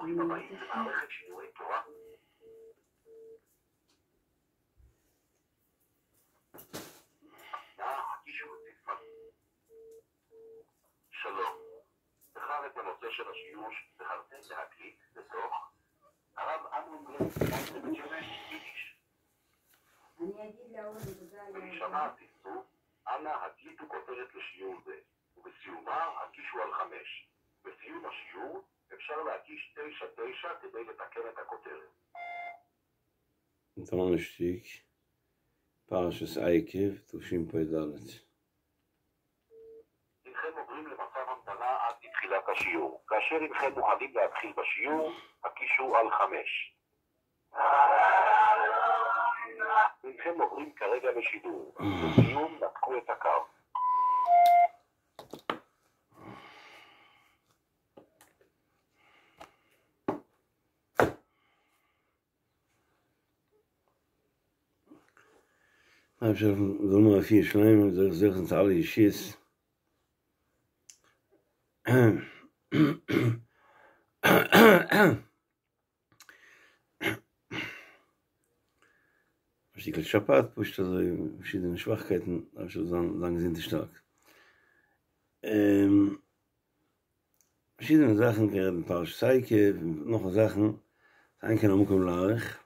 ברוכים הבאים למערכת שיעורי תורה. שלום, בחר את הנושא של השיעור שבחרתם להקליט בתוך הרב אמנון גרין, בית שמש, יידיש. אני אגיד לאורן תודה על ולהישמע הצפצוף, אנא הקליטו כותרת לשיעור זה, ובסיומה הקישו על 5. בסיום השיעור אפשר להקיש 99 כדי לתקן את הכותרת. דאנערשטאג, פרשת עקב, תשפ"ד. הנכם עוברים למצב המתנה עד לתחילת השיעור. כאשר הנכם מוכנים להתחיל בשיעור, הקישו על 5. הנכם עוברים כרגע לשידור. לסיום, נתקו את הקו. אייבערשטער זאל האבן א רפואה שלימה, זאל זוכה זיין צו אלע ישועות. א שטיקל שפעת, פשוט אזוי פארשידענע שוואכקייטן, אייבערשטער זאל זיין זיין געזונט און שטארק. פארשידענע זאכן קען רעדן פרשת עקב און נאך זאכן, אין כאן המקום להאריך.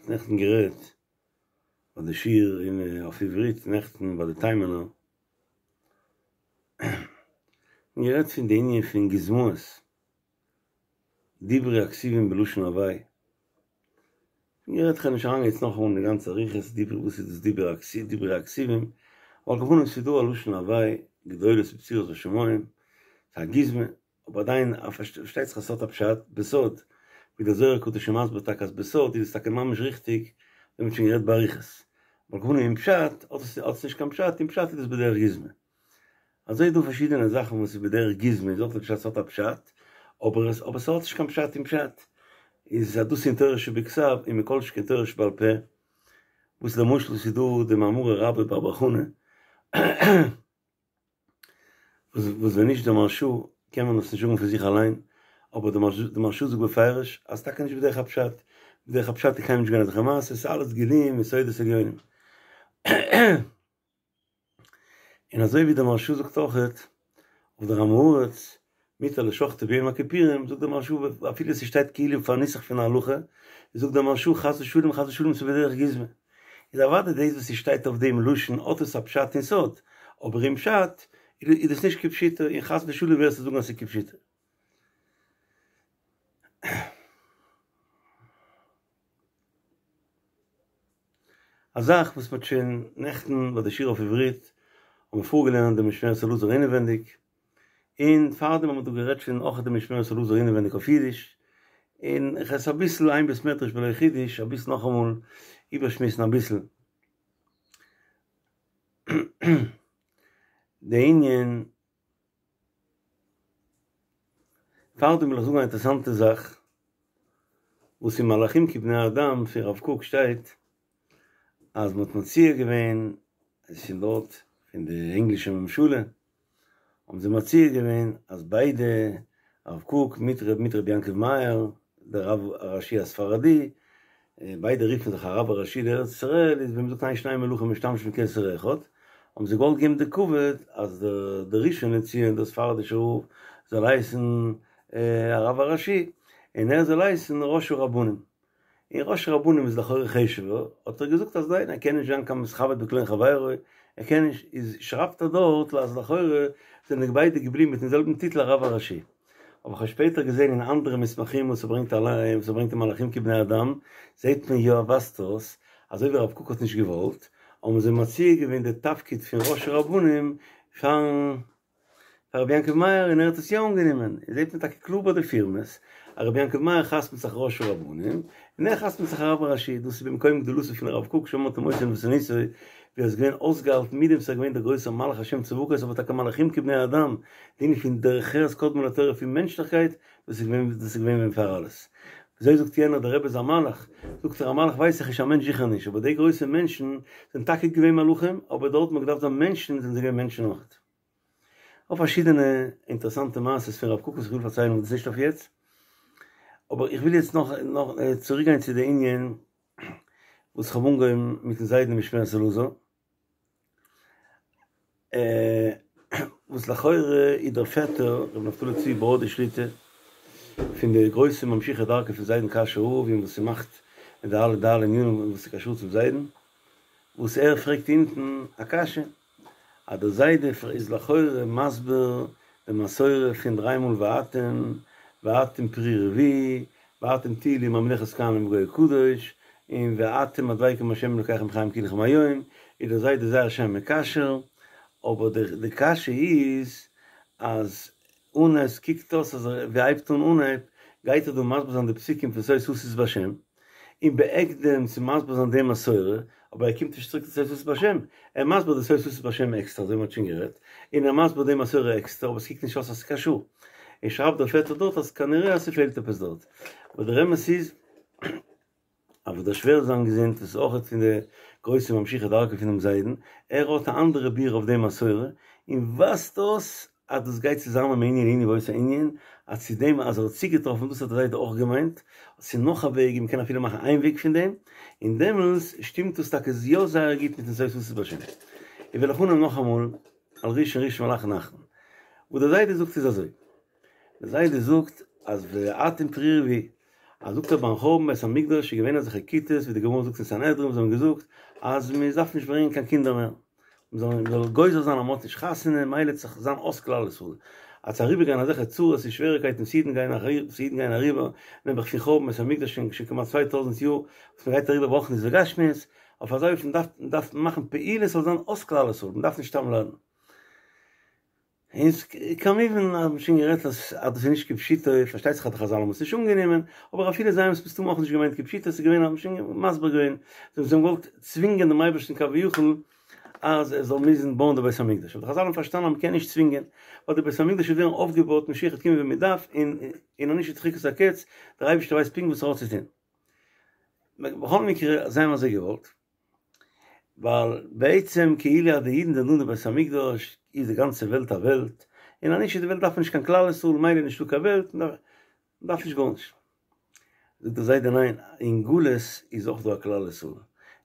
נעכטן גערעדט ביי די שיעור אין אויף עברית נעכטן ביי די תימנ'ער גערעדט פון די ענין פון גוזמאות דברי הכתובים בלשון הוי'. גערעדט כ'גיי נישט אריינגיין יעצט נאכאמאל אין די גאנצע אריכות דברי וואס איז דאס דברי הכתובים דברי הכתובים, על כל פנים ס'איז דא א לשון הוי' גדולות בצורות בשמים, ס'איז א גוזמא, אבער עדיין פארשטייט זיך אז ס'האט א פשט בסוד, ווי דער זוהר הקדוש איז מסביר טאקע אז בסוד איז עס טאקע ממש ריכטיג, ווי מ'האט שוין גערעדט באריכות, על כל פנים אין פשט האט עס נישט קיין פשט, אין פשט איז דאס בדרך גוזמא. אזוי איז דא פארשידענע זאכן וואס איז בדרך גוזמא איז אויך די פשט ס'האט א פשט, אבער עס אבער ס'האט נישט קיין פשט אין פשט, איז אז דאס אין תורה שבכתב און מכל שכן תורה שבעל פה, וואס למשל ס'איז דא די מאמרי רבה בר בר חנה, וואס וואס ווען נישט די מהרשא קען מען עס נישט זאגן פון זיך אליין, אבער די מהרשא זאגט בפירוש אז טאקע נישט בדרך הפשט, בדרך הפשט איז קיינמאל נישט געווען אזעלכע מעשות, ס'איז אלעס גילויים און סודות עליונים. און אזוי ווי דער מהרשא זאגט אויכעט אויף דער עם הארץ מותר לשחטו ביום הכיפורים, זאגט דער מהרשא אפילו ס'שטייט כאילו פאר נוסח פון א הלכה, זאגט דער מהרשא חס ושלום חס ושלום ס'איז בדרך גוזמא. איז אוודאי דאס וואס ס'שטייט אויף דעם לשון האט עס א פשט אין סוד, אבער אין פשט איז דאס נישט כפשוטו און חס ושלום ווער ס'זאל זאגן אז ס'איז כפשוטו. א זאך וואס מ'האט שוין נעכטן ביי די שיעור אויף עברית האט מען פארגעלערנט די משמרת אלעזר אינעווענדיג, און פארדעם האט מען דא גערעדט שוין אויך די משמרת אלעזר אינעווענדיג אויף אידיש, און איך עס אביסל אין בית מדרש בלא חידוש אביסל נאכאמאל איבערשמועסן אביסל די ענין. פארדעם וויל איך זאגן א אינטערעסאנטע זאך, וואס אין מלאכים כבני אדם פון רב קוק שטייט, אז מ'האט מציע געווען, עס איז פון דארט, פון די ענגלישע ממשלה, האבן זיי מציע געווען אז ביידע, הרב קוק מיט מיט רבי יעקב מאיר, דער רב הראשי הספרדי, ביידע רופן זיך הרב הראשי לארץ ישראל, איז ווי מ'זאגט אין שני מלכים משתמשים בכתר אחד, האבן זיי געוואלט געבן די כבוד אז דער ראשון לציון דער ספרדישער רב זאל הייסן הרב הראשי, און ער זאל הייסן ראש הרבנים. און ראש הרבנים איז לכאורה חשוב'ער, האט ער געזאגט אז ניין ער קען נישט זיין קיין מתכבד בקלון חברו, ער קען נישט, איז שרייבט ער דארט אז לכאורה זענען ביידע געבליבן מיטן זעלבן טיטל הרב הראשי. אבער כ'האב שפעטער געזען אין אנדערע מסמכים וואס ער ברענגט אליין וואס ער ברענגט אין מלאכים כבני אדם, זעט מען יא ווייזט אויס אזוי ווי הרב קוק האט נישט געוואלט, האבן זיי מציע געווען די תפקיד פון ראש הרבנים פארן פאר רבי יעקב מאיר און ער האט עס יא אנגענומען, זעט מען טאקע קלאר ביי די פירמעס. אז רבי יעקב מאיר חתמ'ט זיך ראש הרבנים, און ער חתמ'ט זיך הרב הראשי, דאס איז במקום גדולתו פון הרב קוק שאמר תמותו ענוותנותו, ווי ער איז געווען אויסגעהאלטן מיט דעם ס'איז געווען דער גרויסער מלאך השם צבקות אבער טאקע מלאכים כבני אדם, די ענין פון דרך ארץ קדמה לתורה פון מענטשליכקייט, דאס איז געווען דאס איז געווען ווען פאר אלעס. וויאזוי זאגט יענער דער רבי איז א מלאך, זאגט ער א מלאך ווייס איך נישט א מענטש זיכער נישט, אבער די גרויסע מענטשן זענען טאקע געווען מלאכים, אבער דארט מ'האט געדארפט זיין מענטשן זענען זיי געווען מענטשן אויכעט. אויף פארשידענע אינטערעסאנטע מעשות פון רב קוק וואס איך וויל פארציילן אבער דאס איז נישט אויף יעצט, אבער איך וויל יעצט נאך נאך צוריק גיין צו די ענין וואס איך האב אנגעהויבן מיטן זיידן משמרת אלעזר, וואס לכאורה איז דער פעטער רבי נפתלי צבי בראדער שליט"א פון די גרויסע ממשיכי דרכו פון זיידן קאשוי רב און וואס ס'מאכט די אלע די אלע ענינים וואס איז קשור צום זיידן, וואס ער פרעגט אונטן א קשיא. אז דער זיידע איז לכאורה מסביר די מסורה פון דריי מאל ואתם, ואתם פרו ורבו, ואתם תהיו לי ממלכת כהנים וגוי קדוש, און ואתם הדבקים בהשם אלקיכם חיים כולכם היום, איז דער זיידע זייער שיין מקשר, אבער די קשיא איז אז און עס קוקט אויס אז ווי ער הייבט אן אנהייב גייט ער דא מסביר זיין די פסוקים פון שא תשיש בהשם, און בהקדם צו מסביר זיין די מסורה, אבער ער קומט נישט צוריק צו שא תשיש בהשם, ער מסביר די שא תשיש בהשם עקסטער אזוי ווי מ'האט שוין גערעדט, און ער מסביר די מסורה עקסטער אבער עס קוקט נישט אויס אז ס'איז קשור, און שרייבט דער פעטער דארט אז כנראה אז ס'פעלט עפעס דארט, אבער דער אמת איז. אבער דער שווער זיין געזונט וואס איז אויכעט פון די גרויסע ממשיכי דרכו פונעם זיידן, ער האט א אנדערע ביאור אויף די מסורה, און ווייזט אויס אז דאס גייט צוזאמען מענין לענין באותו ענין, אז צו דעם אז ער האט צוגעטראפן דאס האט דער זיידע אויך געמיינט, ס'איז נאך א וועג און מ'קען אפילו מאכן איין וועג פון דעם, און דעמאלס שטימט דאס טאקע יא זייער גוט מיטן שא תשיש בהשם. איך וועל איך אנהויבן נאכאמאל על ראשון ראשון ועל אחרון אחרון. וואס דער זיידע זאגט איז אזוי. דער זיידע זאגט אז ואתם פרו ורבו, אז זאגט ער ביים חורבן בית המקדש איז געווען אזעלכע כיתות ווי די גמרא זאגט אין סנהדרין וואס האבן געזאגט אז מען דארף נישט ברענגען קיין קינדער מער, מען זאל מען זאל גוזר זיין אז מען האט נישט חתונה מילא וועט זיך זיין אויס כלל ישראל, אז צו אריבער גיין אזעלכע צרות און שוועריקייטן וואס אידן גייען וואס אידן גייען אריבער, נעבעך פון חורבן בית המקדש שוין שוין כמעט 2000 יאר וואס מען גייט אריבער ברוחניות וגשמיות, אויף אזא אופן דארף דארף מען מאכן פעולות ס'זאל זיין אויס כלל ישראל, מען דארף נישט סתם ליידן. און כמובן האט מען שוין גערעדט אז אז דאס איז נישט כפשוטו, פארשטייט זיך אז די חזל האבן עס נישט אנגענומען, אבער אפילו זיי האבן עס מסתמא אויך נישט געמיינט כפשוטו, ס'איז געווען האט מען שוין מסביר געווען, זיי האבן געוואלט צווינגען דעם אייבערשטן כביכול אז ער זאל מוזן בויען די בית המקדש, אבער די חזל האבן פארשטאנען אז מ'קען נישט צווינגען, ווייל די בית המקדש וועט ווערן אויפגעבויט, משיח וועט קומען ווען מ'דארף, און און אנישט איז דחיקת הקץ, דער אייבערשטער ווייסט פונקט וואס ער האט צו טון. בכל מקרה, זיי האבן אזוי געוואלט. ווייל בעצם כאילו אז די אידן זענען דא אין די בית המקדש איז די גאנצע וועלט א וועלט, און אז נישט איז די וועלט דארף מען נישט קיין כלל ישראל מילא נישטא קיין וועלט מען דארף נישט גארנישט. זאגט דער זיידע ניין אין גלות איז אויך דא א כלל ישראל,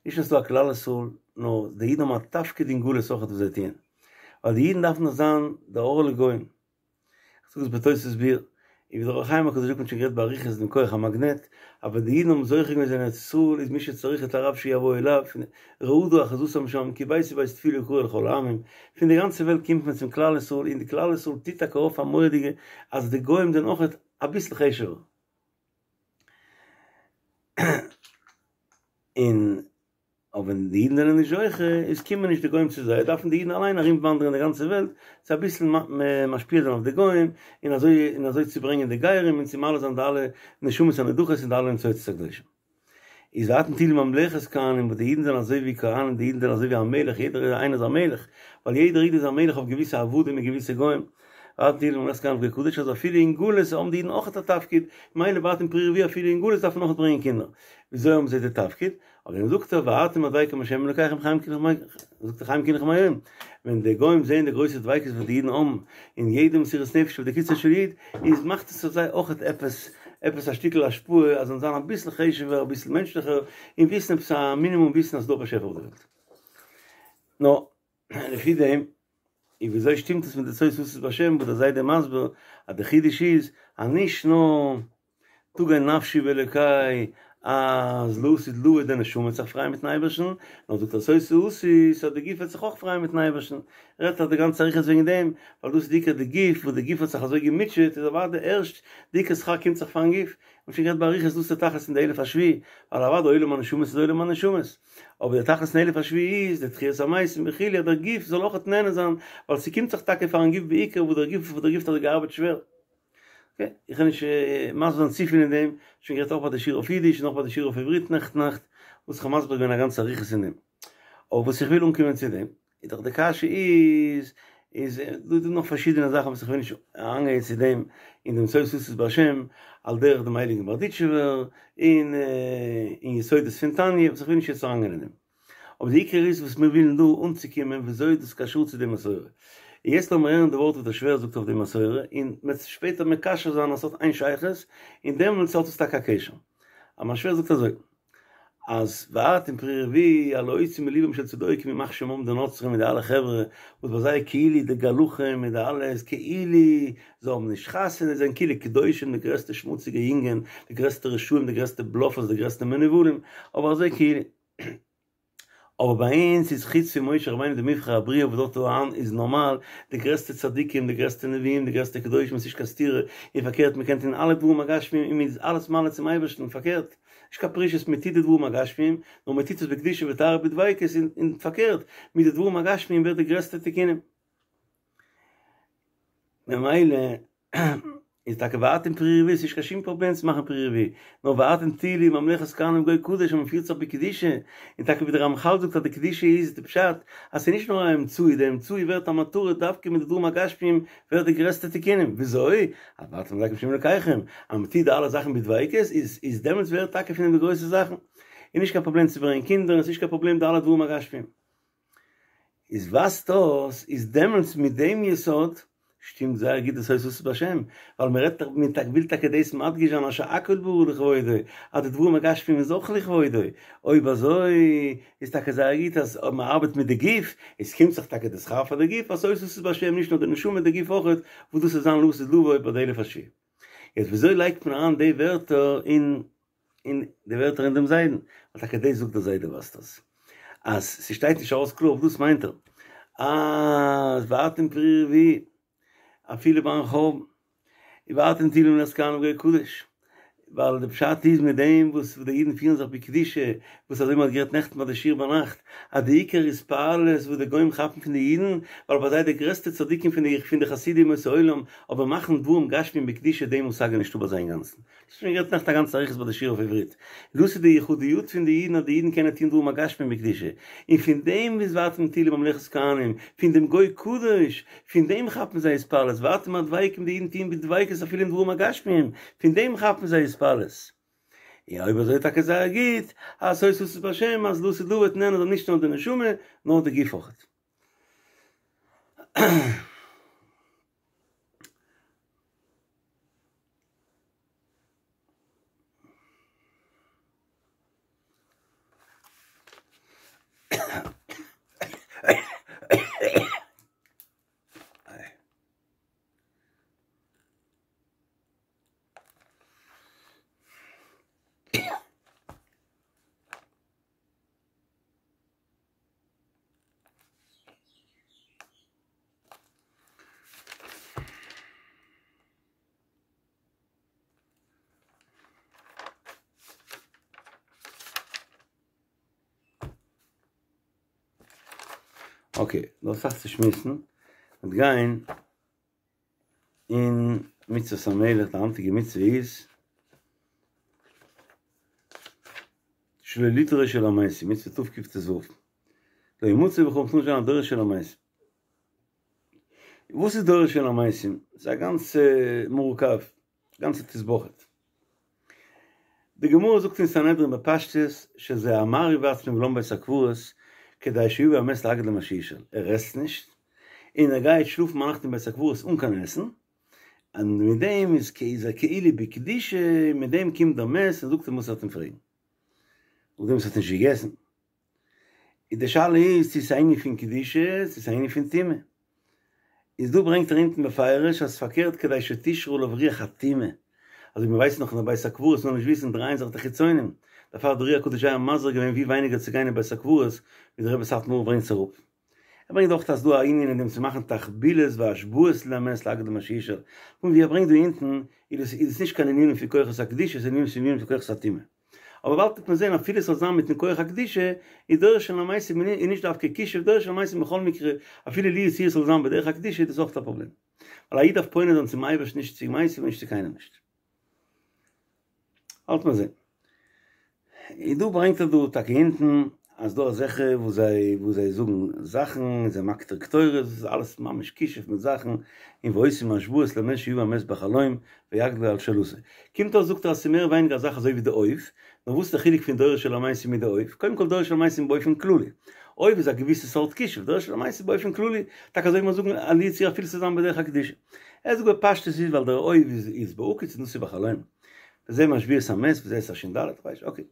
נישט נאר ס'איז דא א כלל ישראל נאר די אידן האבן א תפקיד אין גלות אויך וואס זיי טוען, ווייל די אידן דארפן דאך זיין די אור לגוים, כ'זאג עס בתוס' ביאור, און ווי דער אור החיים הקדוש זאגט מ'האט שוין גערעדט באריכות דעם כח המאגנעט, אבער די אידן האבן זוכה געווען זיין אין ארץ ישראל איז מי שצריך את הרב שיבוא אליו, רעדה אחוזתם שם, כי ביתי בית תפילה יקרא לכל העמים, פון די גאנצע וועלט קומט מען צום כלל ישראל און די כלל ישראל טוט טאקע אויף א מורא'דיגע אז די גוים זענען אויכעט אביסל חשוב'ער. און אבער ווען די אידן זענען נישט זוכה, איז קומען נישט די גוים צו זיי, דארפן די אידן אליין ארום וואנדערן די גאנצע וועלט, צו אביסל משפיע זיין אויף די גוים, און אזוי און אזוי צו ברענגען די גרים און צו מעלה זיין די אלע נשמות הנדחות און די אלע ניצוצות הקדושים. איז ואתם תהיו לי ממלכת כהנים, וואס די אידן זענען אזוי ווי כהנים, די אידן זענען אזוי ווי א מלך, יעדער איינער איז א מלך, ווייל יעדער איד איז א מלך אויף געוויסע עבדים און געוויסע גוים, ואתם תהיו לי ממלכת כהנים וגוי קדוש, אז אפילו אין גלות האבן די אידן אויך א תפקיד, מילא ואתם פרו ורבו אפילו אין גלות דארף מען אויך ברענגען קינדער. וויאזוי האבן זיי די תפקיד? אויף דעם זאגט ער ואתם הדבקים בהשם אלקיכם חיים כולכם זאגט ער חיים כולכם היום, ווען די גוים זעען די גרויסע דביקות וואס די אידן האבן אין יעדע מסירות נפש אויף די קוצו של יוד, איז מאכט עס אויף זיי אויכעט עפעס עפעס א שטיקל השפעה אז זיי זאלן זיין אביסל חשוב'ער אביסל מענטשליכער און וויסן עפעס א מינימום וויסן אז ס'דא א באשעפער אויף די וועלט. נו, לפי דעם, און וויאזוי שטימט עס מיט די שא תשיש בהשם וואס דער זיידע מסביר אז די חידוש איז אז נישט נאר תגל נפשי באלקי אז לעתיד לבוא די נשמה וועט זיך פרייען מיטן אייבערשטן, נאר זאגט ער שא תשיש אז די גוף וועט זיך אויך פרייען מיטן אייבערשטן, רעדט ער די גאנצע אריכות וועגן דעם, ווייל דאס איז די עיקר די גוף, וואס די גוף האט זיך אזוי געמוטשעט איז אוודאי ערשט די עיקר שכר קומט זיך פארן גוף, מ'האט שוין גערעדט באריכות דאס איז די תכלית פון די אלף השביעי, ווייל אוודאי עולם הנשמות איז עולם הנשמות. אבער די תכלית פון אלף השביעי איז די תחיית המתים וכו' אז דער גוף זאל אויכעט נהנה זיין, ווייל ס'קומט זיך טאקע פארן גוף בעיקר וואס דער גוף וואס דער גוף האט אזוי געארבעט שווער. אקעי, איך וועל נישט מסביר זיין צופיל אין דעם, שוין גערעדט אויך ביי די שיעור אויף אידיש און אויך ביי די שיעור אויף עברית נעכטן נאכט, וואס איך האב מסביר געווען א גאנצע אריכות אין דעם. אבער וואס איך וויל אנקומען צו דעם, איז דאך די קשיא איז, איז דא דא נאך פארשידענע זאכן וואס איך וויל נישט אריינגיין צו דעם אין דעם שאו תעשו בהשם, על דרך דעם הייליגן בארדיטשובער, און אין יסודות פון תניא, וואס איך וויל נישט יעצט אריינגיין אין דעם. אבער די עיקר איז וואס מיר ווילן דא אנצוקומען וויאזוי איז דאס קשור צו די מסורה. און יעצט לאמיר הערן די ווארט וואס דער שווער זאגט אויף די מסורה, און מ'וועט שפעטער מקשר זיין אז ס'האט איין שייכות, און דעמאלטס האט עס טאקע א קשר. אז מיין שווער זאגט אזוי, אז ואתם פרו ורבו על להוציא מליבם של צדוקים ימח שמם די נוצרים מיט די אלע חברה וואס ביי זיי כאילו די גלחים מיט די אלעס כאילו זיי האבן נישט חתונה זיי זענען כאילו קדושים די גרעסטע שמוציגע יונגען די גרעסטע רשעים די גרעסטע בלאפערס די גרעסטע מנוולים אבער אזוי כאילו אבער ביי אונז איז חוץ פון משה רבינו די מבחר הבריאה וואס דארט אהן איז נארמאל די גרעסטע צדיקים די גרעסטע נביאים די גרעסטע קדושים עס איז נישט קיין סתירה און פארקערט מען קען טון אלע דברים הגשמיים און מען איז אלעס מעלה צום אייבערשטן פארקערט נישט קיין פרישות מען טוט די דברים הגשמיים נאר מען טוט עס בקדושה וטהרה בדביקות און פארקערט מיט די דברים הגשמיים ווערט די גרעסטע תיקונים ממילא איז טאקע ואתם פרו ורבו, ס'נישט קיין שום פראבלעם צו מאכן פרו ורבו, נאר ואתם תהיו לי ממלכת כהנים וגוי קדוש אז מ'פירט זיך בקדושה, און טאקע ווי די רמחל זאגט אז די קדושה איז די פשט אז ס'איז נישט נאר א אמצעי, די אמצעי ווערט א מטרה דווקא מיט די דברים הגשמיים ווערט די גרעסטע תיקונים, וויאזוי? אז ואתם הדבקים בהשם אלקיכם, אז מ'טוט די אלע זאכן בדביקות איז איז דעמאלטס ווערט טאקע פון דעם די גרויסע זאכן, איז נישט קיין פראבלעם צו ברענגען קינדער און ס'איז נישט קיין פראבלעם די אלע דברים הגשמיים. איז ווייזט אויס איז דעמאלטס מיט דעם יסוד שטימט זייער גוט די שאו תעשו בהשם, ווייל מען רעדט דאך מען וויל טאקע דאס מדגיש זיין אז שהכל ברא לכבודו, אז די דברים הגשמיים איז אויך לכבודו, אויב אזוי איז טאקע זייער גוט אז אויב מען ארבעט מיט די גוף, איז קומט זיך טאקע די שכר פאר די גוף, אז שאו תעשו בהשם נישט נאר די נשמה די גוף אויכעט, וואס דאס איז זיין לעתיד לבוא ביי די אלף השביעי. יעצט וויאזוי לייגט מען אריין די ווערטער אין אין די ווערטער אין דעם זיידן, ווייל טאקע דאס זאגט דער זיידע ווייזט אויס אז ס'שטייט נישט ארויס קלאר אויף דאס מיינט ער אז ואתם פרו ורבו אפילו ביים חורבן ואתם תהיו לי ממלכת כהנים וגוי קדוש, ווייל די פשט איז מיט דעם וואס די אידן פירן זיך בקדושה, וואס אזוי מ'האט גערעדט נעכטן ביי די שיעור ביינאכט, אז די עיקר התפעלות וואס די גוים כאפן פון די אידן, ווייל ביי זיי די גרעסטע צדיקים פון די פון די חסידי אומות העולם, אבער מאכן דברים גשמיים בקדושה די מושג איז נישטא ביי זיי אינגאנצן. דאס שוין גערעדט נעכטן א גאנצע אריכות ביי די שיעור אויף עברית. דאס איז די יחודיות פון די אידן אז די אידן קענען טון דברים הגשמיים בקדושה. און פון דעם איז ואתם תהיו לי ממלכת כהנים, פון דעם גוי קדוש, פון דעם כאפן זיי התפעלות, ואתם הדבקים די אידן טוען בדביקות אפילו אין דברים הגשמיים, פון דעם כאפן זיי התפעלות. און אויב אזוי טאקע זייער גוט, אז שאו תעשו בהשם אז לעתיד לבוא וועט נהנה זיין נישט נאר די נשמה, נאר די גוף אויכעט. אקעי, דא אסאך צו שמועסן, מ'וועט גיין אין מצוות המלך, די היינטיגע מצוה איז שלא לדרוש אל המתים, מצוה תקט"ו, לא ימצא בך מ'טאר נישט זיין א דורש אל המתים. וואס איז דורש אל המתים? ס'איז א גאנצע מורכב, גאנצע תסבוכת. די גמרא זאגט אין סנהדרין בפשטות שזה המרעיב עצמו ולן בבית הקברות כדי שיבא המת להגיד לו מה שישאל, ער עסט נישט און ער גייט שלאפן ביינאכט אין בית הקברות אן קיין עסן, און מיט דעם איז איז ער כאילו בקדושה, מיט דעם קומט דער מת און זאגט אים וואס ער האט אים פרעגן, נאכדעם וואס ער האט נישט געגעסן. איז די שאלה איז צו ס'איז א ענין פון קדושה צו ס'איז א ענין פון טומאה. איז דא ברענגט ער אונטן בפירוש אז פארקערט כדי שתשרה עליו רוח הטומאה. אזוי ווי מ'ווייסט נאך אין די בית הקברות מ'זאל נישט וויסן דרייען זיך די חיצונים. דערפאר האט דער אר"י הקדוש זייער מזהיר געווען ווי ווייניגער צו גיין אין בית הקברות ווי דער רבי סאטמאר ברענגט עס אראפ. ער ברענגט אויך אז ס'דא א ענין אין דעם צו מאכן תחבולות והשבעות למת להגיד לו מה שישאל. פון ווי ער ברענגט דא אונטן איז עס איז עס נישט קיין ענינים פון כוחות הקדושה ס'איז ענינים פון כוחות הטומאה. אבער באלד וועט מען זען אפילו ס'זאל זיין מיטן כח הקדושה, איז דורש אל המתים איז נישט דווקא כישוף, דורש אל המתים בכל מקרה, אפילו לו יצוייר ס'זאל זיין בדרך הקדושה איז דאס אויך א פראבלעם. ווייל א איד דארף פונה זיין צום אייבערשטן נישט צו מתים און נישט צו קיינעם נישט. האלט מען זען. און דא ברענגט ער דא טאקע אונטן אז דא אזעלכע וואס זיי וואס זיי זאגן זאכן און זיי מקטיר קטורת, דאס איז אלעס ממש כישוף מיט זאכן, און ועושים השבעות למת שיבא המת בחלום ויגדל על שאלתו. קומט אויס זאגט ער אז ס'איז מער ווייניגער א זאך אזוי ווי די אוב, נאר וואס איז די חילוק פון דורש אל המתים מיט די אוב? קודם כל דורש אל המתים באופן כללי, אוב איז א געוויסע סארט כישוף, דורש אל המתים באופן כללי, טאקע אזוי ווי מיר זאגן לו יצוייר אפילו ס'זאל זיין בדרך הקדושה. ער זאגט בפשטות איז ווייל דער אוב איז בהקיץ און דאס איז בחלום. וזה משביע את המת וזה את השין ד', כ'ווייס נישט, אקעי.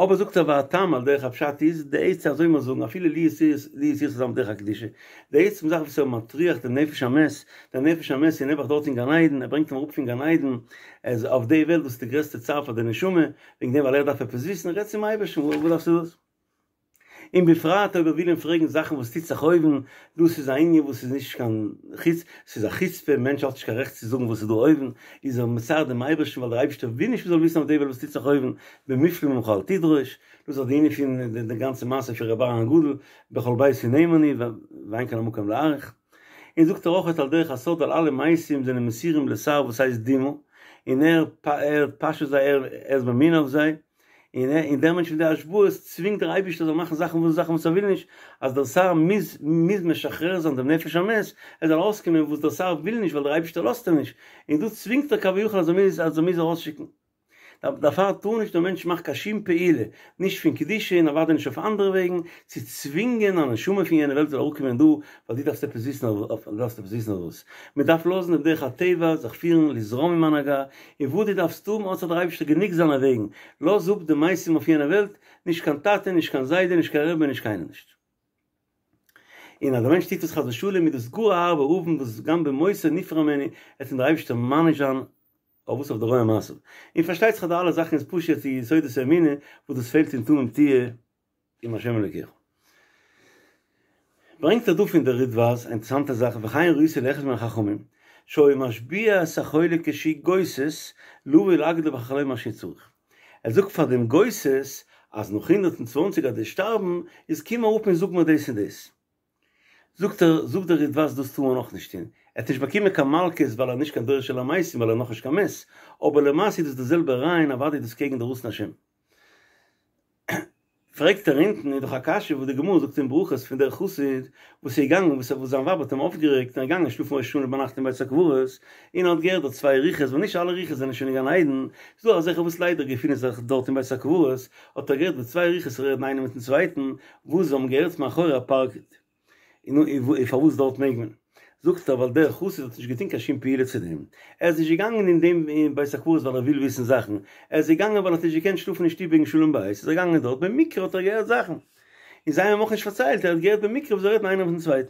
אבער זאגט ער והטעם על דרך הפשט איז די עצה אזוי מיר זאגן אפילו לו יצוייר לו יצוייר ס'זאל זיין בדרך הקדושה, די עצם זאך וואס ער מטריח דעם נפש המת, דער נפש המת איז נעבעך דארט אין גן עדן, ער ברענגט אים אראפ פון גן עדן, ער איז אויף די וועלט וואס איז די גרעסטע צער פאר די נשמה, וועגן דעם ווייל ער דארף עפעס וויסן, רעד צום אייבערשטן, וואס דארפסטו דאס? און בפרט אויב ער וויל אים פרעגן זאכן וואס טוט זיך אויבן, דאס איז א ענין וואס איז נישט קיין חוץ, ס'איז א חוצפה, מענטש האט נישט קיין רעכט צו זאגן וואס איז דא אויבן, איז ער מצער דעם אייבערשטן ווייל דער אייבערשטער וויל נישט מ'זאל וויסן אויף די וועלט וואס טוט זיך אויבן, במופלא ממך אל תדרוש, דאס איז די ענין פון די גאנצע מעשה פון רבי אהרן הגדול, בכל ביתי נאמן הוא, ואין כאן המקום להאריך. און זאגט ער אויך על דרך הסוד ווייל אלע מתים זענען מסורים לשר וואס הייסט דימא, און ער פאשעט זיי, ער איז ממונה אויף זיי. און ער און דער מענטש מיט די השבעות צווינגט דער אייבערשטער זאל מאכן זאכן וואס זאכן וואס ער וויל נישט, אז דער שר מוז מוז משחרר זיין דעם נפש המת, ער זאל ארויסקומען וואס דער שר וויל נישט ווייל דער אייבערשטער לאזט אים נישט, און דא צווינגט ער כביכול אז ער מוז אז ער מוז ארויסשיקן. דערפאר טאר נישט דער מענטש מאכן קיין שום פעולה, נישט פון קדושה און אוודאי נישט אויף אנדערע וועגן, צו צווינגען א נשמה פון יענע וועלט זאל אראפקומען דא, ווייל דו דארפסט עפעס וויסן אויף דו דארפסט עפעס וויסן אויף וואס. מען דארף לאזן דעם דרך הטבע זיך פירן לזרום עם ההנהגה, און וואס דו דארפסט האבן האט זיך דער אייבערשטער גענוג זיינע וועגן, לאז אפ די מתים אויף יענע וועלט, נישט קיין טאטע, נישט קיין זיידע, נישט קיין רבי, נישט קיינער נישט. און אז דער מענטש טוט עס חס ושלום איז דאס גאר א הארבע עוון וואס גם במותו נפרע ממנו, וועט אים דער אייבערשטער מעניש זיין אויף וואס אויף די רוע מעשיו. און פארשטייט זיך אז די אלע זאכן איז פשוט די יסודות האמונה וואס דאס פעלט אין תמים תהיה עם השם אלוקיך. ברענגט ער דא פון דער רידב"ז א אינטערעסאנטע זאך וכן ראיתי לאחד מן החכמים שהיה משביע את החולה כשהוא גוסס לבוא ולהגיד לו בחלום מה שצריך. ער זאגט פאר דעם גוסס אז נאך 120 אז דו'סט שטארבן איז קום אראפ און זאג מיר דאס און דאס. זאגט ער, זאגט דער רידב"ז דאס טאר מען אויך נישט טון, ער האט נישט באקומען קיין מלקות ווייל ער איז נישט קיין דורש אל המתים ווייל ער איז נאכנישט קיין מת, אבער למעשה איז דאס די זעלבע רעיון אוודאי איז דאס קעגן די רצון השם. פרעגט ער אונטן איז דאך א קשיא וואס די גמרא זאגט אין ברכות פון דער חסיד וואס איז געגאנגען וואס וואס זיין ווייב האט אים אויפגערעגט און ער איז געגאנגען שלאפן ראש השנה ביינאכט אין בית הקברות און ער האט געהערט דארט צוויי רוחות ווייל נישט אלע רוחות זענען שוין אין גן עדן ס'איז דא אזעלכע וואס ליידער געפינען זיך דארט אין בית הקברות האט ער געהערט ווי צוויי רוחות רעדן איינער מיטן צווייטן וואס זיי האבן געהערט מאחורי הפרגוד. און פארוואס דארט מעג מען? זאגט ער ווייל דער חסיד האט נישט געטון קיין שום פעולה צו דעם, ער איז נישט געגאנגען אין דעם בית הקברות ווייל ער וויל וויסן זאכן, ער איז געגאנגען ווייל ער האט נישט געקענט שלאפן אין שטוב וועגן שלום בית, איז ער געגאנגען דארט, במקרה האט ער געהערט זאכן, און זיי האבן אים אויך נישט פארציילט, ער האט געהערט במקרה וואס זיי רעדן איינער מיטן צווייטן.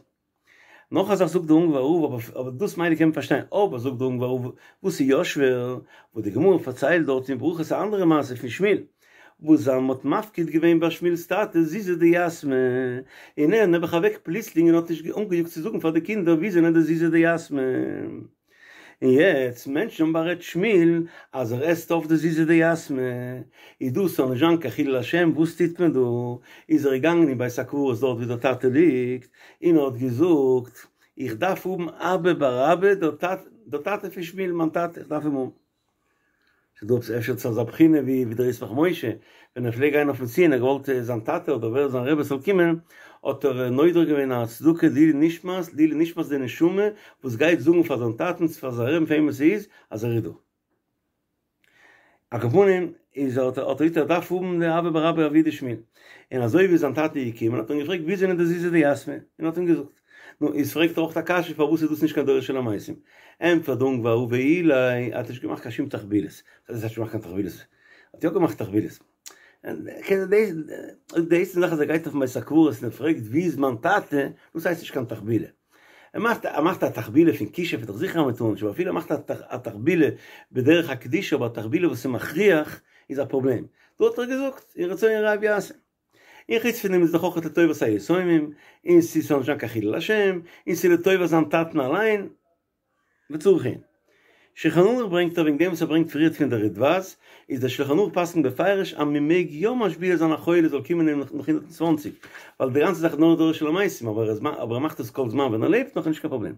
נאך א זאך זאגט דער אונגוואר רב, אבער דאס מילא קען מען פארשטיין, אבער זאגט דער אונגוואר רב, וואס איז יא שווער, וואס די גמרא פארציילט דארט אין ברכות א אנדערע מעשה פון שמואל, וואס זיי מ'האט מפקיד געווען ביי שמואל'ס טאטע זוזי דיתמי, און ער נעבעך אוועק פלוצלינג און האט נישט אנגעיאגט צו זאגן פאר די קינדער ווי זענען די זוזי דיתמי. און יעצט מענטשן האבן בארעדט שמואל אז ער עסט אויף די זוזי דיתמי, איז דאס זאל נישט זיין קיין חילול השם, וואס טוט מען דא? איז ער געגאנגען אין בית הקברות דארט ווי דער טאטע ליגט, און ער האט געזאגט, איך דארף האבן אבא בר אבא, דער טאטע פון שמואל, מיין טאטע, איך דארף אים האבן. ס'איז דא עפעס אפשר צו אזא בחינה ווי ווי דער ישמח משה ווען ער פלעגט גיין אויפן ציון ער געוואלט זיין טאטע אדער ווער זיין רבי זאל קומען האט ער נודר געווען א צדקה לעילוי נשמת לעילוי נשמת די נשמה וואס גייט זאגן פאר זיין טאטן צו פאר זיין רבין פאר וועם עס איז אז ער איז דא. על כל פנים איז האט ער געזאגט ער דארף האבן די אבא בר אבא אבוה דשמואל און אזוי ווי זיין טאטע איז געקומען האט ער אים געפרעגט ווי זענען די זוזי דיתמי און האט אים געזאגט נו, איז פרעגט ער אויך א קשיא פארוואס איז דאס נישט קיין דורש אל המתים? ענטפערט דער אונגוואר רב ואילו ער האט נישט געמאכט קיין שום תחבולות. וואס הייסט ער האט נישט געמאכט קיין תחבולות? ער האט יא געמאכט תחבולות. די עצם זאך אז ער גייט אויפן בית הקברות און ער פרעגט ווי איז מיין טאטע, דאס הייסט נישט קיין תחבולה. ער מאכט ער מאכט א תחבולה פון כישוף איז דאך זיכער אז מען טאר נישט, אבער אפילו ער מאכט א תחבולה בדרך הקדושה אבער א תחבולה וואס איז מכריח איז א פראבלעם. דא האט ער געזאגט און רצון הרב יעשה. און חוץ פון דעם איז דאך אויך לטובת היתומים, און ס'איז נישט קיין חילול השם, און ס'איז לטובת זיין טאטן אליין, וצריך עיון. שולחן ערוך ברענגט ער וועגן דעם וואס ער ברענגט פריערט פון דער רידב"ז, איז דער שולחן ערוך פסק'נט בפירוש אז מען מעג יא משביע זיין א חולה זאל קומען אים נאך 120, ווייל די גאנצע זאך איז נאר דורש אל המתים, אבער ער מאכט עס כל זמן ווען ער לעבט נאך איז נישט קיין פראבלעם.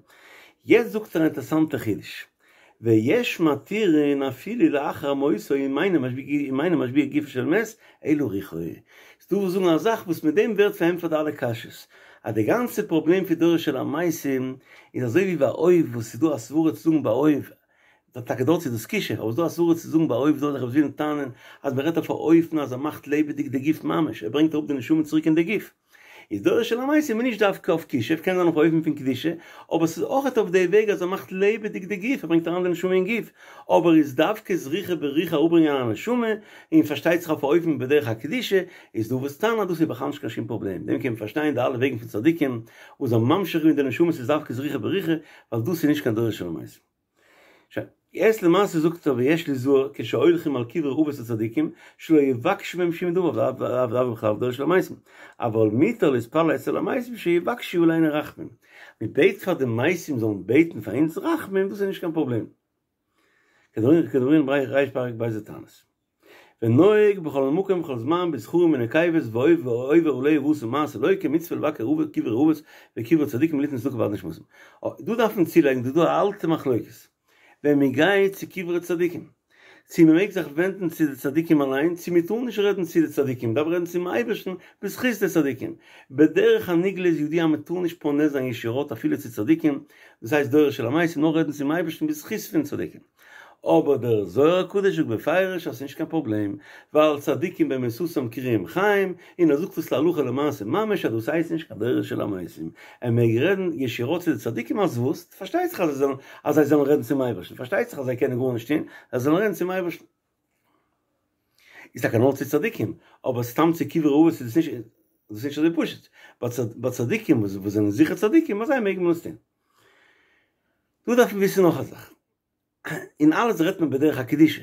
יעצט זאגט ער א אינטערסאנטע חידוש, ויש מתירין אפילו לאחר מותו אם אינו משביע אם אינו משביע גופו של מת אלא רוחו. ס'דא וואס זאגן א זאך וואס מיט דעם ווערט פארענטפערט אלע קשיות, אז די גאנצע פראבלעם פון דורש אל המתים איז אזוי ווי ביי עוף וואס ס'איז דא א סברה צו זאגן ביי עוף, טאקע דארט איז דאס כישוף, אבער ס'איז דא א סברה צו זאגן ביי עוף דארט וואס ווילן טענה'ן אז מ'רעדט אויף א אופן אז ער מאכט לעבעדיג די גוף ממש, ער ברענגט אראפ די נשמה צוריק אין די גוף. איז דורש אל המתים איז נישט דווקא אויף כישוף, קען זיין אויף א אופן פון קדושה, אבער ס'איז אויכעט אויף די וועג אז ער מאכט לעבעדיג די גוף, ער ברענגט אריין די נשמה אין גוף, אבער איז דווקא זריחה ברוחה אראפברענגען א נשמה, און פארשטייט זיך אויף א אופן בדרך הקדושה, איז דא וואס טענה'ן אז דאס איז בכלל נישט קיין שום פראבלעם, דעם קען מען פארשטיין די אלע וועגן פון צדיקים וואס זענען ממשיך געווען די נשמות איז דווקא זריחה ברוחה, ווייל דאס איז נישט קיין דורש אל המתים. שוין, יעצט למעשה זאגט ער ויש ליזהר כשהולכים על קברי אבות הצדיקים שלא יבקשו מהם שום דבר ולאו בכלל דורש אל המתים, אבל מותר להתפלל אצל המתים שיבקשו עלינו רחמים, מען בעט פאר די מתים זאלן בעטן פאר אונז רחמים דאס איז נישט קיין פראבלעם, כדאמרינן בריש פרק ב' דתענית. ונוהג בכל מקום ובכל זמן בזכרים ונקבות והעובר עליה ועשה מעשה לוקה מצוה לבקר קברי אבות וקברי צדיקים ליתן צדקה בעד נשמתם. דא דארף מען צולייגן דא איז דא א אלטע מחלוקת ווען מען גייט צו קברי צדיקים צו מען מעג זיך ווענדן צו די צדיקים אליין צו מען טאר נישט רעדן צו די צדיקים מען דארף רעדן צום אייבערשטן בזכות די צדיקים בדרך הנגלה איז ידוע אז מען טאר נישט פונה זיין ישירות אפילו צו צדיקים דאס הייסט דורש אל המתים נאר רעדן צום אייבערשטן בזכות פון צדיקים. אבער דער זוהר הקדוש זאגט בפירוש אז ס'נישט קיין פראבלעם, ווייל צדיקים במיתתם קרויים חיים, און ער זאגט עס להלכה למעשה ממש אז דאס הייסט נישט קיין דורש אל המתים, ער מעג רעדן ישירות צו די צדיקים אז וואס? פארשטייט זיך אז זיי זאלן אז זיי זאלן רעדן צום אייבערשטן, פארשטייט זיך אז זיי קענען גארנישט טון, זיי זאלן רעדן צום אייבערשטן. איז טאקע נאר צו צדיקים, אבער סתם צו קברי אבות איז עס נישט, דאס איז נישט אזוי פשוט, ביי צדיקים וואס זענען זיכער צדיקים, ביי זיי מעג מען עס טון. דא דארף מען וויסן נאך א זאך, אין אלעס רעדט מען בדרך הקדושה,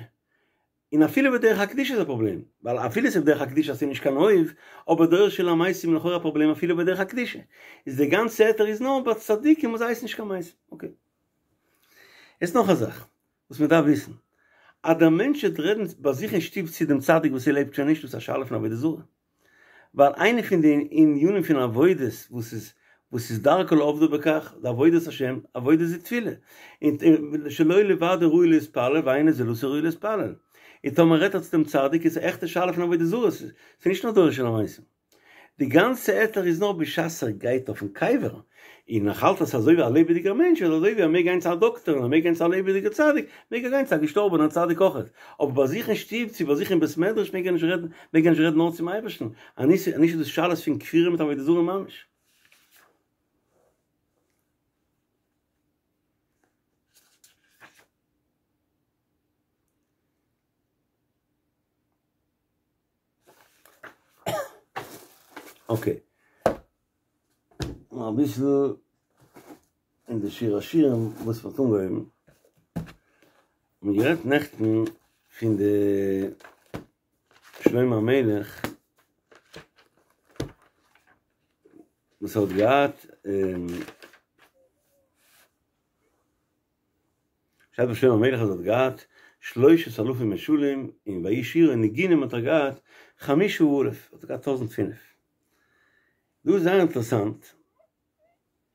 און אפילו בדרך הקדושה איז א פראבלעם, ווייל אפילו ס'איז בדרך הקדושה אז ס'איז נישט קיין עוף, אבער דורש אל המתים איז לכאורה א פראבלעם אפילו בדרך הקדושה, איז די גאנצע היתר איז נאר ביי צדיקים וואס הייסן נישט קיין מתים, אקעי. יעצט נאך א זאך וואס מען דארף וויסן, אז דער מענטש וועט רעדן ביי זיך אין שטוב צו דעם צדיק וואס ער לעבט שוין נישט, דאס איז א שאלה פון עבודה זרה. ווייל איינע פון די ענינים פון עבודות וואס איז וואס איז דרכו לעובדו בכך, די עבודת השם, עבודה זו תפילה, און שלא לבדו ראוי להתפלל ואין זולתו ראוי להתפלל, און טאמער רעדט ער צו דעם צדיק איז א עכטע שאלה פון עבודה זרה, ס'איז נישט נאר דורש אל המתים. די גאנצע היתר איז נאר בשעת ער גייט אויפן קבר, און ער האלט אז ס'איז אזוי ווי א לעבעדיגער מענטש, איז אזוי ווי ער מעג גיין צו א דאקטער און ער מעג גיין צו א לעבעדיגער צדיק, מעג ער גיין צו א געשטארבענער צדיק אויכעט, אבער ביי זיך אין שטוב צו ביי זיך אין בית מדרש מעג ער נישט רעדן, מעג ער נישט רעדן נאר צום אייבערשטן, אנישט איז דאס שאלות פון כפירה מיט עבודה זרה ממש. אקעי. אביסל אין די שיר השירים וואס מ'האט אנגעהויבן. מ'האט גערעדט נעכטן פון די שלמה המלך וואס האט געהאט שטייט ביי שלמה המלך אז ער האט געהאט שלושת אלפים משלים און ויהי שירה און ניגונים האט ער געהאט חמשה אלף האט ער געהאט טויזנט פינף. דא איז זייער אינטערעסאנט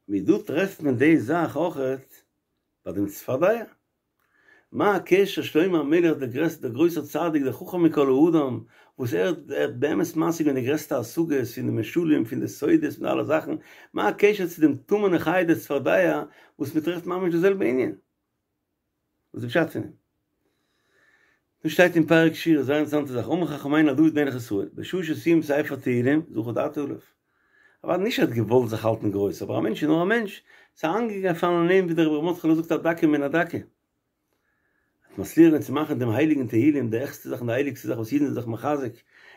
ווי דא טרעפט מען די זאך אויכעט ביי דעם צפרדע. מה הקשר שלמה המלך דער גרעסטער דער גרויסער צדיק דער חכם מכל האדם וואס ער האט באמת משיג געווען די גרעסטע השגות פון די משלים פון די סודות פון אלע זאכן מה הקשר צו דעם טמא'נע חיה די צפרדע וואס מען טרעפט ממש די זעלבע ענין? וואס איז די פשט פון דעם? דא שטייט אין פרק שירה זייער אינטערעסאנטע זאך אמרו חכמינו על דוד מלך ישראל בשעה שסיים ספר תהילים זחה דעתו עליו אוודאי נישט ער האט געוואלט זיך האלטן גרויס אבער א מענטש איז נאר א מענטש ס'איז איינגעפאלן אין אים ווי דער רבי ר' מרדכי'לע זאגט א דקה מן הדקה האט מצליח געווען צו מאכן דעם הייליגן תהילים די העכסטע זאך און די הייליגסטע זאך וואס אידן זענען זיך מחזק,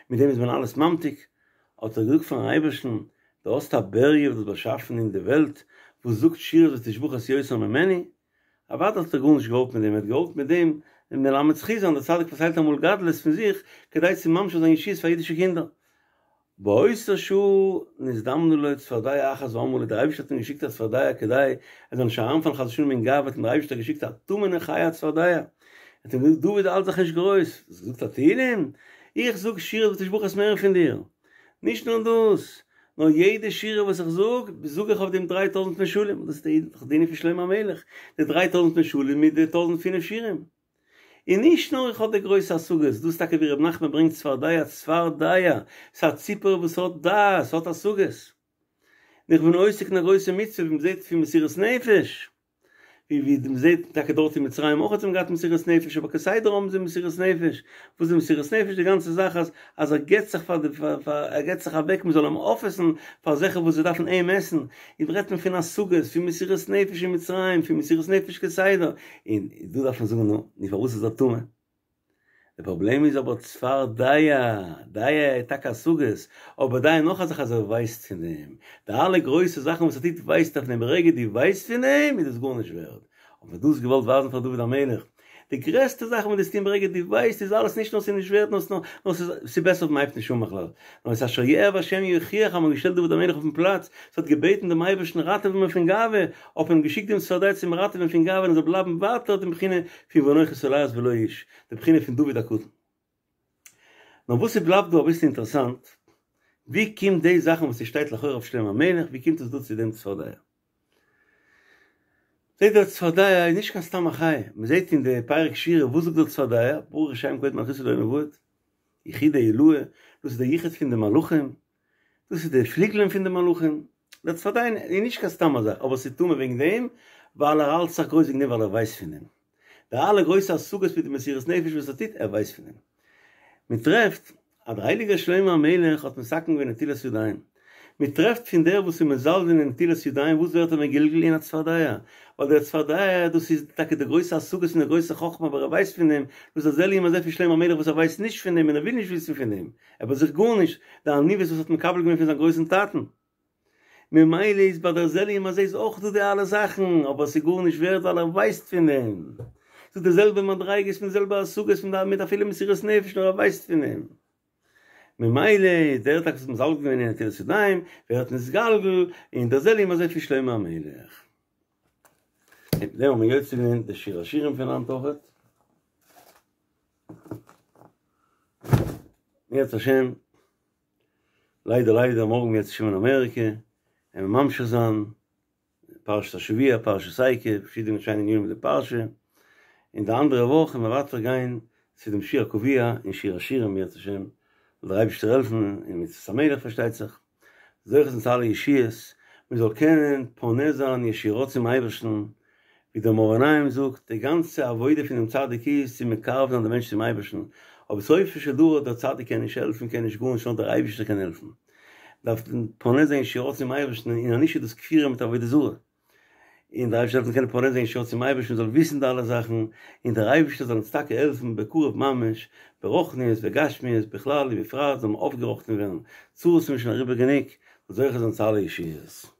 מיט דעם איז מען אלעס ממתיק, האט ער געזאגט פארן אייבערשטן, דו האסט א בריה וואס דו האסט באשאפן אין די וועלט, וואס זאגט שירות ותשבחות יותר ממני, אוודאי האט ער גארנישט געוואלט מיט דעם, ער האט געוואלט מיט דעם מלמד זכות זיין, דער צדיק פארציילט אמאל גדלות פון זיך, כדי צו ממשיך זיין ישועות פאר אידישע קינדער. באותה שעה נזדמנה לו צפרדע אחת ואמרה לו, דער אייבערשטער האט אים געשיקט א צפרדע כדי ער זאל נישט אריינפאלן חס ושלום אין גאווה, האט אים דער אייבערשטער געשיקט א טמא'נע חיה א צפרדע, ער האט אים געזאגט דוד האלט זיך נישט גרויס, האסט געזאגט א תהילים? איך זאג שירות ותשבחות מער פון דיר, נישט נאר דאס, נאר יעדע שירה וואס איך זאג, זאג איך אויף דעם דריי טויזענט משלים, דאס איז דאך די ענין פון שלמה המלך, די דריי טויזענט משלים מיט די טויזענט פינף שירים. און נישט נאר איך האב די גרויסע השגות, דאס איז טאקע ווי ר' נחמן ברענגט צפרדע צפרדע, ס'איז א ציפור וואס האט דעת, האט השגות. און איך בין עוסק אין א גרויסע מצוה ווי מ'זעט פון מסירות נפש, ווי ווי מ'זעט טאקע דארט אין מצרים אויך האט מען געהאט מסירות נפש, אבער כסדר האבן זיי מסירות נפש, וואס איז מסירות נפש? די גאנצע זאך אז אז ער געבט זיך פאר די פאר ער געבט זיך אוועק מ'זאל אים אויפעסן פאר זאכן וואס זיי דארפן אים עסן, און רעדט מען פון השגות, פון מסירות נפש אין מצרים, פון מסירות נפש כסדר, און דא דארף מען זאגן נו, נו פארוואס איז ער טמא? די פראבלעם איז אבער צפרדע, דע איז טאקע השגות, אבער דע נאך א זאך אז ער ווייסט פון דעם, די אלע גרויסע זאכן וואס ער טוט ווייסט ער פון דעם, ברגע דו ווייסט פון דעם איז דאס גארנישט ווערד, האט מען דאס געוואלט ווייזן פאר דוד המלך, די גרעסטע זאך וואס דו טוסט ברגע דו ווייסט איז אלעס נישט נאר ס'איז נישט ווערט נאר נאר ס'איז בעסער אויב מ'הייבט נישט אן בכלל, נאר את אשר יאהב השם יוכיח אז מ'האט געשטעלט דוד המלך אויפן פלאץ, ס'האט געבעטן דעם אייבערשטן ראטעווע מיר פון גאווה, האט מען אים געשיקט דעם צפרדע צו אים ראטעווען פון גאווה און ער זאל בלייבן ווייטער די בחינה פון ואנכי תולעת ולא איש, די בחינה פון דוד הקטן. נאר וואס ס'בלייבט דא אביסל אינטערעסאנט, ווי קומט די זאכן וואס ס'שטייט לכאורה אויף שלמה המלך, ווי קומט עס דא צו דעם צפרדע? זעט דער צפרדע איז נישט קיין סתם א חיה, מען זעט אין די פרק שירה וואס זאגט דער צפרדע, ברוך שם כבוד מלכותו לעולם ועד, יחודא עילאה, דאס איז דער יחוד פון די מלאכים, דאס איז די פליגלען פון די מלאכים, דער צפרדע איז נישט קיין סתם א זאך, אבער ס'איז טמא וועגן דעם ווייל ער האלט זיך גרויס וועגן דעם ווייל ער ווייסט פון דעם, די אלע גרויסע השגות מיט די מסירות נפש וואס ער טוט, ער ווייסט פון דעם. מען טרעפט אז דער הייליגער שלמה המלך האט מתקן געווען נטילת ידיים, מען טרעפט פון דער וואס איז מזלזל אין נטילת ידיים וואס ווערט ער מגולגל אין א צפרדע, ווייל דער צפרדע דאס איז טאקע די גרויסע השגות און די גרויסע חכמה אבער ער ווייסט פון דעם, דאס איז זה לעומת זה פון שלמה המלך וואס ער ווייסט נישט פון דעם און ער וויל נישט וויסן פון דעם, ער ביי זיך גארנישט, די עניוות וואס האט מקבל געווען פון זיין גרויסן טאטן. ממילא איז ביי דער זה לעומת זה איז אויך דא די אלע זאכן, אבער ס'איז גארנישט ווערד ווייל ער ווייסט פון דעם. ס'איז די זעלבע מדריגות מיט די זעלבע השגות מיט מיט אפילו מסירות נפש נאר ער ווייסט פון דעם. ממילא איז דער טאקע וואס האט מזלזל געווען אין נטילת ידיים ווערט נתגלגל אין דער זה לעומת זה פון שלמה המלך. מיט דעם האבן מיר יוצא געווען די שיר השירים פון היינט אויכעט. אם ירצה השם. ליידער ליידער מארגן אם ירצה השם אין אמעריקע און מיר ממשיך זיין פרשת השבוע פרשת עקב פארשידענע שיינע ענינים מיט די פרשה און די אנדערע וואך וועלן מיר ווייטער גיין צו דעם שיר הקבוע און שיר השירים אם ירצה השם זאל דער אייבערשטער העלפן און מצות המלך פארשטייט זיך זוכה זיין צו אלע ישועות מען זאל קענען פונה זיין ישירות צום אייבערשטן ווי דער מאור עיניים זאגט, די גאנצע עבודה פונעם צדיק איז צו מקרב זיין די מענטש צום אייבערשטן, אבער סופו של דבר דער צדיק קען נישט העלפן, קען נישט גארנישט, נאר דער אייבערשטער קען העלפן. דארף מען פונה זיין ישירות צום אייבערשטן, און אנישט איז דאס כפירה מיט עבודה זרה. און דער אייבערשטער זאל העלפן קענען פונה זיין ישירות צום אייבערשטן, זאל וויסן די אלע זאכן, און דער אייבערשטער זאל אונז טאקע העלפן בקרוב ממש, ברוחניות וגשמיות בכלל ובפרט זאל מען אויפגעראכטן ווערן, צרות זענען שוין אריבער גענוג, זאל זוכה זיין צו אלע ישועות.